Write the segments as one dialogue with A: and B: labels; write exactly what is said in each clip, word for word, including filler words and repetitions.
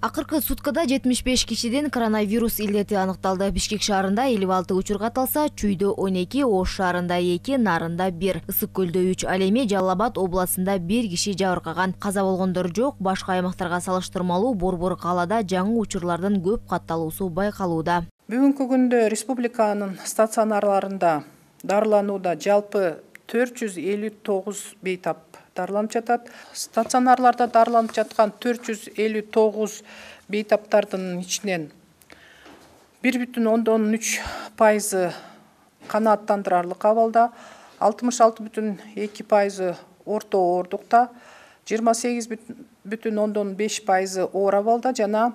A: Акыркы суткада жетимиш беш кишиден коронавирус илдети аныкталды. Бишкек шаарында элүү алты учур катталса, Чүйдө он эки, Ош шаарында эки, Нарында бир, Ысык көлдө үч, ал эми Жалал Абад областында бир киши жабыркаган. Каза болгондор жок. Башка аймактарга салыштырмалуу Борбор калаада жаңы учурлардын көп катталуусу байкалууда.
B: Бүгүнкү күндө республиканын стационарларында дарыланууда жалпы төрт жүз элүү тогуз бейтап дарыланып жатат. Стационарларда дарыланып жаткан төрт жүз элүү тогуз бейтаптардын ичинен бир бүтүн ондон үч пайызы канааттандырарлык абалда, алтымыш алты бүтүн эки пайызы орто оордукта, жыйырма сегиз бүтүн ондон беш пайызы оор абалда жана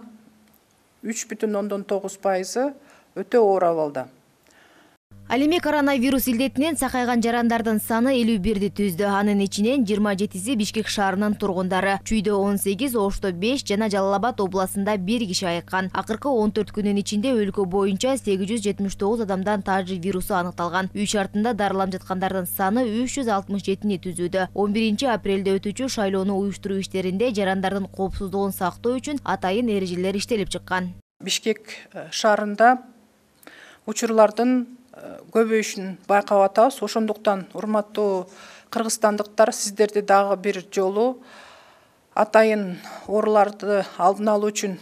B: үч бүтүн ондон тогуз пайызы өтө оор абалда.
A: Ал эми коронавирус илдетинен сакайган жарандардын саны элүү бирди түздү. Анын ичинен жыйырма жетиси Бишкек шаарынын тургундары. Чүйдө он сегиз, Ошто беш жана Жалал Абад областында бир киши айыккан. Акыркы он төрт күнүн ичинде өлкө боюнча сегиз жүз жетимиш тогуз адамдан тажи вирусу аныкталган. Үй шартында дарыланып жаткандардын саны үч жүз алтымыш жетини түзүүдө. он биринчи апрелде өтүүчү шайлоону уюштуруу иштеринде жарандардын коопсуздугун сактоо үчүн атайын эрежелер иштелип чыккан.
B: Бишкек шаарында учурлардын көбөйүшүн байкап атабыз. Ошондуктан урматтуу кыргызстандыктар, сиздерди дагы бир жолу атайын ооруларды алдын алуу үчүн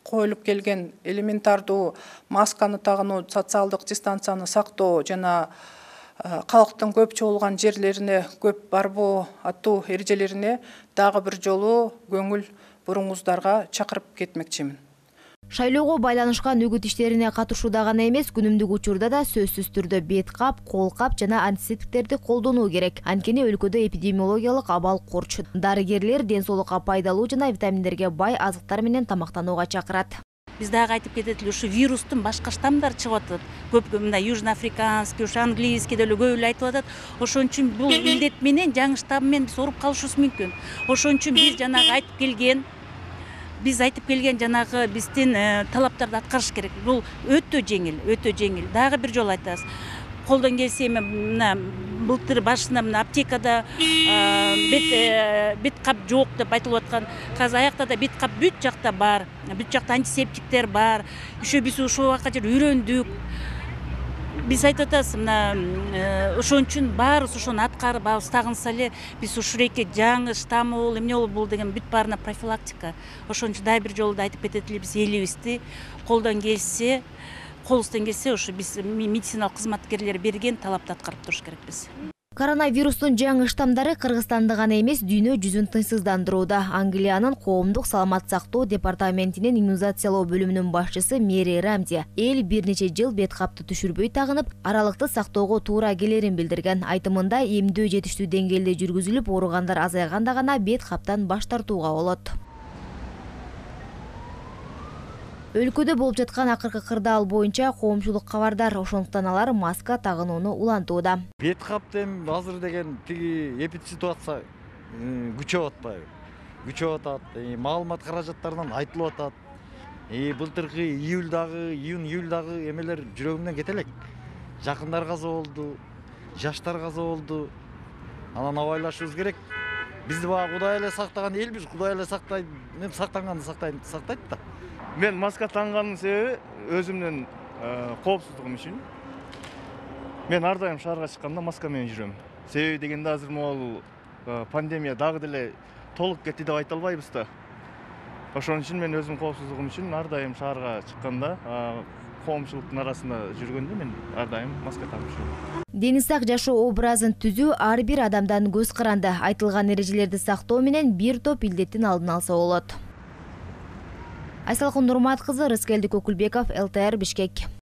B: коюлуп келген элементардуу масканы тагынуу, социалдык дистанцияны сактоо жана калктын көп чогулган жерлерине көп барбоо аттуу эрежелерине дагы бир жолу көңүл буруңуздарга чакырып кетмекчимин.
A: Шайлоого байланышкан үгүт иштерине катышууда гана эмес, күнүмдүк учурда да сөзсүз түрдө бет кап, кол кап жана антисептиктерди колдонуу керек. Анткени өлкөдө эпидемиологиялык абал корч. Дарыгерлер ден соолукка пайдалуу жана витаминдерге бай азыктар менен тамактанууга чакырат.
C: Биз дагы айтып кетет эле, ушу вирустун башка штаммдары чыгып атат. Көп мындай южноафриканский, ушу английский деле көп эле айтып атат. Ошон үчүн бул илдет менен жаңы штамм менен биз ооруп калышыбыз мүмкүн. Ошон үчүн биз жанагы айтып келген Биз айтып келген жанагы биздин талаптарды аткарыш керек. Бул өтө жеңил, өтө жеңил. Дагы бир жолу айтабыз. Колдон келсе мына былтыр башында мына аптекада бет бет кап жок деп айтылып аткан. Казыр аякта да бет кап бүт жакта бар. Бүт жакта антисептиктер бар. Еще биз ушул убакка чейин үйрөндүк. Биз айтып атабыз, мына ошон үчүн баарыбыз ошону аткарып тагынса эле биз ушуреке жаңы штаммы болду, эмне болду бул деген бүт баарына профилактика. Ошон үчүн дагы бир жолу айтып кетет эле, биз элибизди колдон келсе, колубуздан келсе ушу биз медициналык кызматкерлер берген талапты аткарып туруш керекпиз.
A: Коронавирустун жаңы штамдары Кыргызстанды гана эмес, дүйнө жүзүн тынчсыздандырууда. Англиянын коомдук саламат сактоо департаментинин иммунизациялоо бөлүмүнүн башчысы Мэри Рамзи эл бир нече жыл бет капты түшүрбөй тагынып, аралыкты сактоого туура келерин билдирген. Айтымында эмдөө жетиштүү деңгээлде жүргүзүлүп, ооругандар азайганда гана бет каптан баш тартууга болот. Өлкөдө болуп жаткан акыркы кырдаал боюнча коомчулук кабардар, ошондуктан алар маска тагынууну улантууда.
D: Бет кап эми азыр деген тиги эпид ситуация күчөп атпайбы? Күчөп атат. Маалымат каражаттарынан айтылып атат. Былтыркы июлдагы, июнь-июлдагы эмелер жүрөгүмдөн кете элек. Жакындар каза болду, жаштар каза болду. Анан абайлашыбыз керек. Бизди баа Кудай эле сактаган элбиз, Кудай эле сактайт, мен сактанганды сактайт, сактайт да.
E: Мен маска таңганын себеби өзүмдүн коопсуздугум үчүн. Мен ар дайым шаарга чыкканда маска менен жүрөм. Себеби дегенде азыр могул пандемия дагы деле толук кетти деп айта албайбыз да. Ошон үчүн мен өзүмдүн коопсуздугум үчүн ар дайым шаарга чыкканда, коомчулуктун арасында жүргөндө мен ар дайым маска тагып жүрөм.
A: Дени сак жашоо образын түзүү ар бир адамдан көз каранды. Айтылган эрежелерди сактоо менен бир топ илдеттин алдын алса болот. Айсалкын Нурмат кызы, Рыскелди Көкүлбеков, эл тэ эр Бишкек.